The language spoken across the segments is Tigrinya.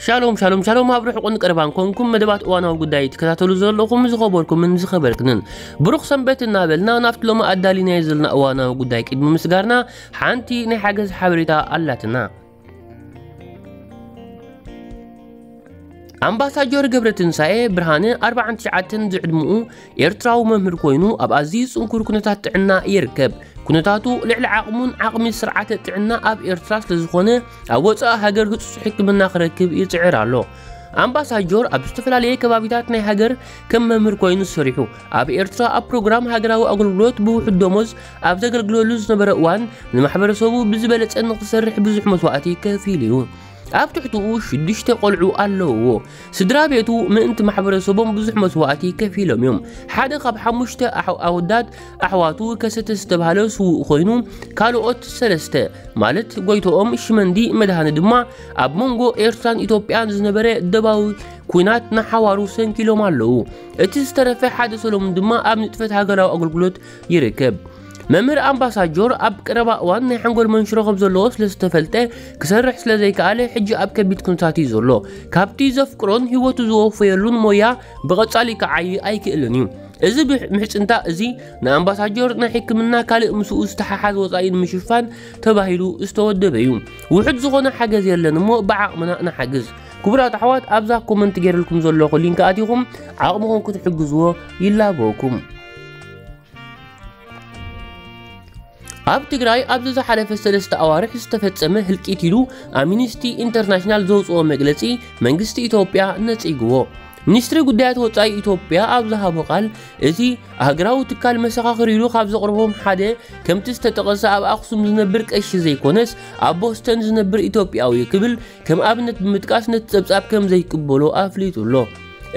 ሻሎም ሻሎም ሻሎም፣ ኣብ ርሑቕን ቀረባን ኮንኩም መደባት እዋናዊ ጉዳይ ትከታተሉ ዘለኹም ዝኸበርኩምን ዝኸበርክንን፣ ብሩኽ ሰንበት እናበልና፣ ናብቲ ሎሚ ኣዳሊናዮ ዘለና እዋናዊ ጉዳይ ቅድሚ ምስጋርና፣ ሓንቲ ናይ ሓገዝ ሓበሬታ ኣላትና። ኣምባሳጀር ገብረትንሳኤ ብርሃነ፣ ኣርባዓን ትሽዓተን ዝዕድምኡ፣ ኤርትራዊ መምህር ኮይኑ፣ ኣብ ኣዝዩ ጽንኩር ኩነታት ጥዕና ይርከብ። ኩነታቱ ልዕሊ ዓቕሙን ዓቕሚ ስርዓተ ጥዕና ኣብ ኤርትራ ስለ ዝኾነ፣ ኣብ ወጻኢ ሃገር ህጹጽ ሕክምና ክረክብ ይጽዕር ኣሎ። ኣምባሳጀር ኣብ ዝተፈላለየ ከባቢታት ናይ ሃገር ከም መምህር ኮይኑ ሰሪሑ፣ ኣብ ኤርትራ ኣብ ፕሮግራም ሃገራዊ ኣገልግሎት ብውሑድ ደሞዝ ኣብ ዘገልግለሉ ዝነበረ እዋን፣ ንማሕበረሰቡ ብዝበለጸ ንኽሰርሕ ብዙሕ መስዋእቲ ከፊሉ እዩ። ኣብ ትሕትኡ ሽዱሽተ ቆልዑ ኣለውዎ። ስድራ ቤቱ ምእንቲ ማሕበረሰቦም ብዙሕ መስዋእቲ ከፊሎም እዮም። ሓደ ካብ ሓሙሽተ ኣሕ-፣ ኣወዳት ኣሕዋቱ ከሰተ ዝተባህለ ስዉእ ኮይኑ፣ ካልኦት ሰለስተ፣ ማለት ጎይቶኦም፣ ሽመንዲ፣ መድሃነ ድማ ኣብ መንጎ ኤርትራን ኢትዮጵያን ዝነበረ ደባዊ ኲናት ንሓዋሩ ሰንኪሎም ኣለዉ። እቲ ዝተረፈ ሓደ ሰሎሙን ድማ ኣብ ንጥፈት ሃገራዊ ኣገልግሎት ይርከብ። መምህር ኣምባሳጀር ኣብ ቀረባ እዋን ናይ ሓንጎል መንሽሮ ከም ዘለዎ ስለ ዝተፈልጠ፣ ክሰርሕ ስለ ዘይከኣለ፣ ሕጂ ኣብ ከቢድ ኩነታት እዩ ዘሎ። ካብቲ ዘፍቅሮን ህይወቱ ዝወፈየሉን ሞያ ብቐጻሊ ክዓዪ ኣይክእልን እዩ። እዚ ብሕ-፣ ምሕጽንታ እዚ ንኣምባሳጀር ናይ ሕክምና ካልእ ምስኡ ዝተሓሓዝ ወጻኢ ንምሽፋን ተባሂሉ ዝተወደበ እዩ። ውሑድ ዝኾነ ሓገዝ የለን እሞ ብዓቕምና ንሓግዝ። ክቡራት ኣሕዋት፣ ኣብዛ ኮመንት ገይረልኩም ዘለኹ ሊንክ ኣቲኹም ዓቕምኹም ክትሕግዝዎ ይላበወኩም። ኣብ ትግራይ ኣብዚ ዝሓለፈ ሰለስተ ኣዋርሕ ዝተፈጸመ ህልቂት ኢሉ ኣምኒስቲ ኢንተርናሽናል ዘውፅኦ መግለፂ መንግስቲ ኢትዮጵያ ነፂግዎ። ሚኒስትሪ ጉዳያት ወፃኢ ኢትዮጵያ ኣብ ዝሃቦ ቃል፣ እቲ ሃገራዊ ትካል መሰኻኽር ኢሉ ካብ ዘቕረቦም ሓደ ከምቲ ዝተጠቐሰ ኣብ ኣኽሱም ዝነብር ቀሺ ዘይኮነስ ኣብ ቦስተን ዝነብር ኢትዮጵያዊ ክብል ከም ኣብነት ብምጥቃስ ነቲ ጸብጻብ ከም ዘይቅበሎ ኣፍሊጡ ኣሎ።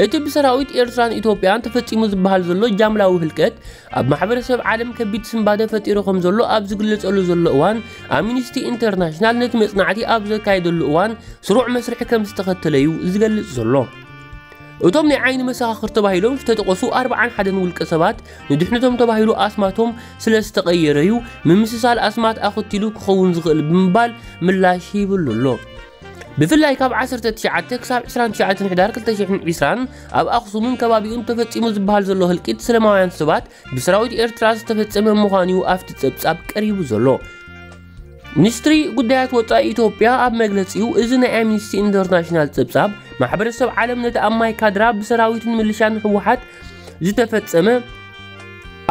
እቲ ብሰራዊት ኤርትራን ኢትዮጵያን ተፈጺሙ ዝበሃል ዘሎ ጃምላዊ ህልቀት ኣብ ማሕበረሰብ ዓለም ከቢድ ስንባደ ፈጢሩ ከም ዘሎ ኣብ ዝግለጸሉ ዘሎ እዋን፣ ኣምኒስቲ ኢንተርናሽናል ነቲ መጽናዕቲ ኣብ ዘካየደሉ እዋን ስሩዕ መስርሕ ከም ዝተኸተለ እዩ ዝገልጽ ዘሎ። እቶም ናይ ዓይኒ መሰኻኽር ተባሂሎም ዝተጠቐሱ ኣርብዓን ሓደን ውልቀ ሰባት፣ ንድሕነቶም ተባሂሉ ኣስማቶም ስለ ዝተቐየረ እዩ፣ ምምስሳል ኣስማት ኣኸቲሉ ክኸውን ዝኽእል ብምባል ምላሽ ሂብሉ ኣሎ። ብፍላይ ካብ ዓሰርተ ትሽዓተ ክሳብ ዕስራን ትሽዓተን ሕዳር ክልተ ሽሕን ዕስራን ኣብ ኣኽሱምን ከባቢኡን ተፈጺሙ ዝበሃል ዘሎ ህልቂት ሰላማውያን ሰባት ብሰራዊት ኤርትራ ዝተፈጸመ ምዃኑ እዩ ኣብቲ ጸብጻብ ቀሪቡ ዘሎ። ሚኒስትሪ ጉዳያት ወጻኢ ኢትዮጵያ ኣብ መግለጺኡ፣ እዚ ናይ ኣምኒስቲ ኢንተርናሽናል ጸብጻብ፣ ማሕበረሰብ ዓለም ነቲ ኣብ ማይ ካድራ ብሰራዊትን ምልሻን ህወሓት ዝተፈጸመ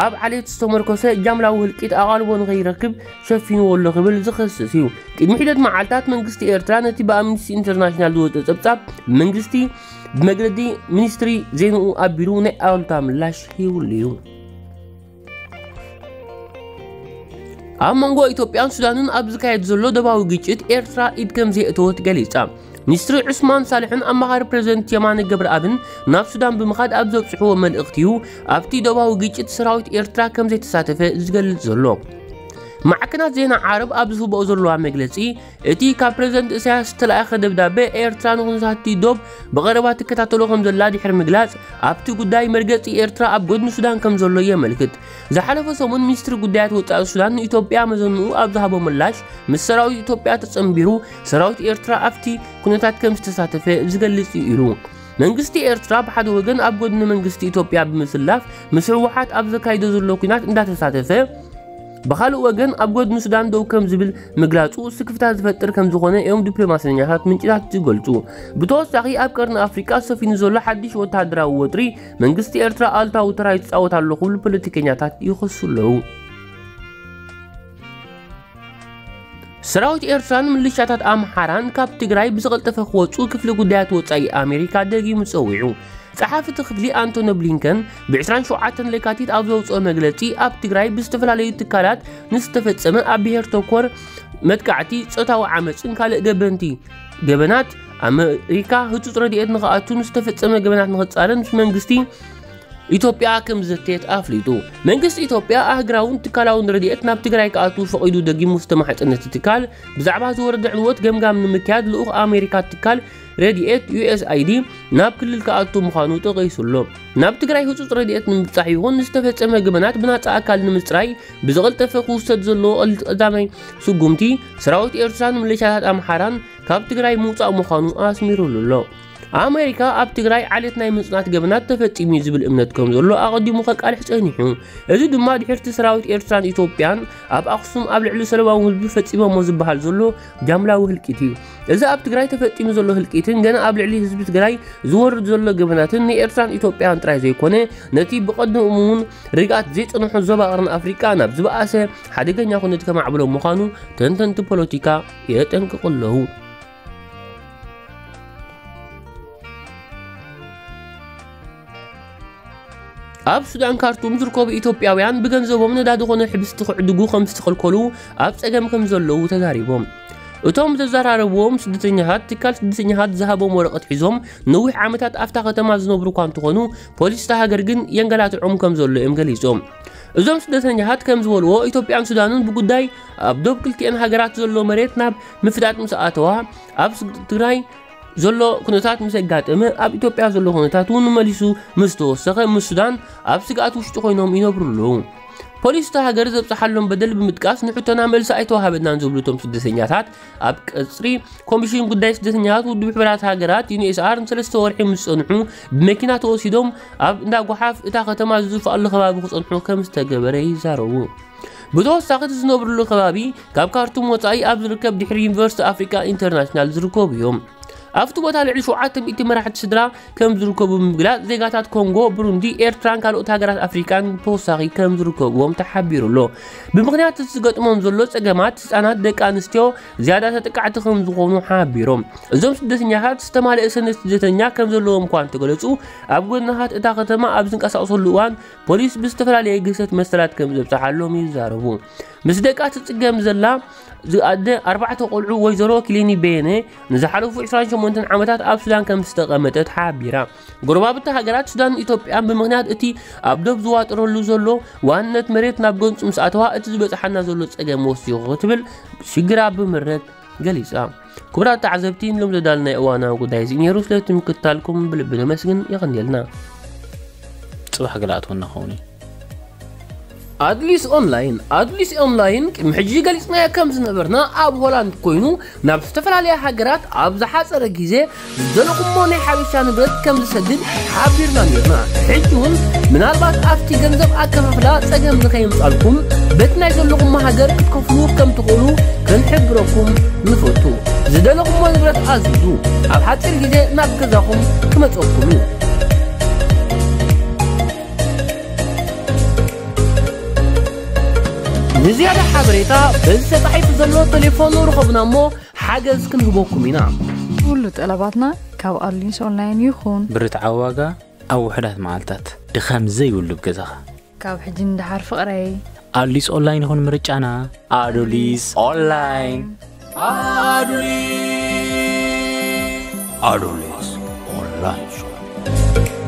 ኣብ ዓሌት ዝተመርኮሰ ጃምላዊ ህልቂት ኣቓልቦ ንኸይረክብ ሸፊንዎ ኣሎ ክብል ዝኸስስ እዩ። ቅድሚ ሒደት መዓልታት መንግስቲ ኤርትራ ነቲ ብኣምኒስቲ ኢንተርናሽናል ዝወጸ ጸብጻብ መንግስቲ ብመግለዲ ሚኒስትሪ ዜንኡ ኣቢሉ ናይ ኣሉታ ምላሽ ሂብሉ እዩ። ኣብ መንጎ ኢትዮጵያን ሱዳንን ኣብ ዝካየድ ዘሎ ደባዊ ግጭት ኤርትራ ኢድ ከም ዘየእተወት ገሊጻ። ሚኒስትሪ ዑስማን ሳልሕን ኣማኻሪ ፕሬዝደንት የማነ ገብረኣብን ናብ ሱዳን ብምኻድ ኣብ ዘብጽሕዎ መልእኽቲ እዩ፣ ኣብቲ ደባዊ ግጭት ሰራዊት ኤርትራ ከም ዘይተሳተፈ ዝገልጽ ዘሎ። ማዕከናት ዜና ዓረብ ኣብ ዝህብኦ ዘለዋ መግለጺ፣ እቲ ካብ ፕሬዝደንት ኢሳያስ ዝተላእከ ደብዳቤ ኤርትራ ንኹነታት'ቲ ዶብ ብቐረባ ትከታተሎ ከም ዘላ ድሕሪ ምግላጽ፣ ኣብቲ ጉዳይ መርገጺ ኤርትራ ኣብ ጎድኒ ሱዳን ከም ዘሎ የመልክት። ዝሓለፈ ሰሙን ሚኒስትሪ ጉዳያት ወጻኢ ሱዳን ንኢትዮጵያ መዘንኡ ኣብ ዝሃቦ ምላሽ፣ ምስ ሰራዊት ኢትዮጵያ ተጸንቢሩ፣ ሰራዊት ኤርትራ ኣብቲ ኩነታት ከም ዝተሳተፈ ዝገልጽ እዩ ኢሉ። መንግስቲ ኤርትራ ብሓደ ወገን ኣብ ጎድኒ መንግስቲ ኢትዮጵያ ብምስላፍ፣ ምስ ህወሓት ኣብ ዘካይዶ ዘሎ ኲናት እንዳተሳተፈ፣ ብኻልእ ወገን ኣብ ጎድኒ ሱዳን ደው ከም ዝብል ምግላጹ ስክፍታ ዝፈጥር ከም ዝኾነ እዮም ዲፕሎማሰኛታት ምንጭታት ዝገልጹ። ብተወሳኺ ኣብ ቀርኒ ኣፍሪቃ ሰፊኑ ዘሎ ሓድሽ ወተሃደራዊ ወጥሪ መንግስቲ ኤርትራ ኣሉታዊ ተራ ይጻወት ኣሎ ክብሉ ፖለቲከኛታት ይኸሱ ኣለዉ። ሰራዊት ኤርትራን ምልሻታት ኣምሓራን ካብ ትግራይ ብዝቐልጠፈ ክወጹ ክፍሊ ጉዳያት ወጻኢ ኣሜሪካ ደጊሙ ጸዊዑ። ጸሓፊ እቲ ክፍሊ ኣንቶኒ ብሊንከን ብዕስራን ሸውዓተን ለካቲት ኣብ ዘውጽኦ መግለጺ፣ ኣብ ትግራይ ብዝተፈላለዩ ትካላት ንዝተፈጸመ ኣብ ብሄር ተኮር መጥቃዕቲ፣ ጾታዊ ዓመጽን ካልእ ገበንቲ ገበናት ኣመሪካ ህጹጽ ረድኤት ንኽኣቱ ንዝተፈጸመ ገበናት ንኽጻረን ምስ መንግስቲ ኢትዮጵያ ከም ዘተየት ኣፍሊጡ። መንግስቲ ኢትዮጵያ ኣህግራውን ትካላውን ረድኤት ናብ ትግራይ ክኣቱ ፈቒዱ ደጊሙ ዝተማሕጸነ እቲ ትካል፣ ብዛዕባ ዝወረደ ዕንወት ገምጋም ንምክያድ ልኡኽ ኣሜሪካ ትካል ረድኤት ዩ ኤስ ኣይ ዲ ናብ ክልል ክኣቱ ምዃኑ ጠቒሱ ኣሎ። ናብ ትግራይ ህጹጽ ረድኤት ንምብጻሕ ይኹን ንዝተፈጸመ ገበናት ብናጻ ኣካል ንምጽራይ ብዝቐልጠፈ ክውሰድ ዘለዎ ቀዳማይ ስጉምቲ፣ ሰራዊት ኤርትራን ምልሻታት ኣምሓራን ካብ ትግራይ ምውፃእ ምዃኑ ኣስሚሩሉ ኣሎ። ኣሜሪካ ኣብ ትግራይ ዓሌት ናይ ምጽናት ገበናት ተፈጺሙ እዩ ዝብል እምነት ከም ዘሎ ኣቐዲሙ ከቃልሕ ጸኒሑ። እዚ ድማ ድሕርቲ ሰራዊት ኤርትራን ኢትዮጵያን ኣብ ኣኽሱም ኣብ ልዕሊ ሰለማዊ ህዝቢ ፈጺሞሞ ዝበሃል ዘሎ ጃምላዊ ህልቂት እዩ። እዚ ኣብ ትግራይ ተፈጺሙ ዘሎ ህልቂትን ገና ኣብ ልዕሊ ህዝቢ ትግራይ ዝወርድ ዘሎ ገበናትን ንኤርትራን ኢትዮጵያን ጥራይ ዘይኮነ፣ ነቲ ብቐደሙ እውን ርግኣት ዘይጸንሖ ዞባ ቀርኒ ኣፍሪቃ ናብ ዝበኣሰ ሓደገኛ ኩነት ከማዕብሎ ምዃኑ ተንተንቲ ፖለቲካ የጠንቅቑ ኣለዉ። ኣብ ሱዳን ካርቱም ዝርከቡ ኢትዮጵያውያን ብገንዘቦም ነዳዲ ኮነ ሕብስቲ ክዕድጉ ከም ዝተኸልከሉ ኣብ ጸገም ከም ዘለዉ ተዛሪቦም። እቶም ዘዘራረብዎም ስደተኛታት ትካል ስደተኛታት ዝሃቦም ወረቐት ሒዞም ነዊሕ ዓመታት ኣብታ ከተማ ዝነብሩ እኳ እንተኾኑ ፖሊስ እታ ሃገር ግን የንገላትዖም ከም ዘሎ እዮም ገሊጾም። እዞም ስደተኛታት ከም ዝበልዎ ኢትዮጵያን ሱዳንን ብጉዳይ ኣብ ዶብ ክልቲኤን ሃገራት ዘሎ መሬት ናብ ምፍዳጥ ምስ ኣተዋ ኣብ ትግራይ ዘሎ ኩነታት ምስ ኣጋጠመ ኣብ ኢትዮጵያ ዘሎ ኩነታት እውን መሊሱ ምስ ተወሰኸ ምስ ሱዳን ኣብ ስግኣት ውሽጢ ኮይኖም ይነብሩ ኣለዉ። ፖሊስ እታ ሃገር ዘብፅሓሎም በደል ብምጥቃስ ንሕቶና መልሲ ኣይተዋሃበናን ዝብሉ እቶም ስደተኛታት ኣብ ቀፅሪ ኮሚሽን ጉዳይ ስደተኛታት ውድብ ሕብራት ሃገራት ዩኒኤስኣር ንሰለስተ ወርሒ ምስ ፀንሑ ብመኪና ተወሲዶም ኣብ እንዳ ጓሓፍ እታ ከተማ ዝዝፈኣሉ ከባቢ ክፀንሑ ከም ዝተገበረ ይዛረቡ። ብተወሳኺ እቲ ዝነብርሉ ከባቢ ካብ ካርቱም ወፃኢ ኣብ ዝርከብ ድሕሪ ዩኒቨርሲቲ ኣፍሪካ ኢንተርናሽናል ዝርከቡ እዮም። ኣብቲ ቦታ ልዕሊ ሸውዓተ ሚእቲ መራሕቲ ስድራ ከም ዝርከቡ ብምግላፅ ዜጋታት ኮንጎ፣ ብሩንዲ፣ ኤርትራን ካልኦት ሃገራት ኣፍሪካን ተወሳኺ ከም ዝርከብዎም ተሓቢሩ ኣሎ። ብምኽንያት እቲ ዝገጥሞም ዘሎ ፀገማት ህፃናት ደቂ ኣንስትዮ ዝያዳ ተጠቃዕቲ ከም ዝኾኑ ሓቢሮም። እዞም ስደተኛታት ዝተማልአ ሰነድ ስደተኛ ከም ዘለዎም እኳ እንተገለፁ ኣብ ጎደናታት እታ ከተማ ኣብ ዝንቀሳቐሰሉ እዋን ፖሊስ ብዝተፈላለየ ግህሰት መሰላት ከም ዘብፅሓሎም ይዛረቡ። ምስ ደቃ ትፅገም ዘላ ዝኣደ ኣርባዕተ ቆልዑ ወይዘሮ ኪሊኒ በየነ ንዝሓለፉ ዕስራን ሸሞንተን ዓመታት ኣብ ሱዳን ከም ዝተቐመጠት ሓቢራ። ጎረባብቲ ሃገራት ሱዳንን ኢትዮጵያን ብምኽንያት እቲ ኣብ ዶብ ዝዋጥረሉ ዘሎ ዋንነት መሬት ናብ ገንጹ ምስ ኣተዋ እቲ ዝበጽሓና ዘሎ ጸገም ወሲኹ ክትብል ሽግራ ብምረት ገሊጻ። ክቡራት ተዓዘብቲ ንሎም ዘዳልናይ እዋናዊ ጉዳይ እዚ ነይሩ። ስለ ምክትታልኩም ብልቢ ነመስግን። የቐንየልና። ጽባሕ ገለ ኣትወና ኸውን እዩ። ኣድሊስ ኦንላይን ኣድሊስ ኦንላይን ቅድሚ ሕጂ ገሊጽናዮ ከም ዝነበርና ኣብ ሆላንድ ኮይኑ ናብ ዝተፈላለያ ሃገራት ኣብ ዝሓጸረ ግዜ ዝደለኹሞ ናይ ሓበሻ ንብረት ከም ዝሰድድ ሓቢርና ነርና። ሕጂ እውን ምናልባት ኣብቲ ገንዘብ ኣከፋፍላ ጸገም ንኸየምጻልኩም በቲ ናይ ዘለኹሞ ሃገር ክትከፍሉ ከም ትኽእሉ ክንሕብረኩም ንፈቱ። ዝደለኹሞ ንብረት ኣዝዙ፣ ኣብ ሓጺር ግዜ ናብ ገዛኹም ክመጸኩም እዩ። ንዝያዳ ሓበሬታ በዚ ተጻሒፉ ዘሎ ቴሌፎን ርኸቡና እሞ ሓገዝ ክንህበኩም ኢና። ኩሉ ጠለባትና ካብ ኣሊንስ ኦንላይን ይኹን። ብርትዓዊ ዋጋ ኣብ ውሑዳት መዓልታት። ድኻም ዘይብሉ ኣብ ገዛኻ። ካብ ሕጂ ንደሓር ፍቕረይ። ኣሊስ ኦንላይን ይኹን ምርጫና። ኣዱሊስ ኦንላይን። ኣዱሊስ ኦንላይን ሾፕ።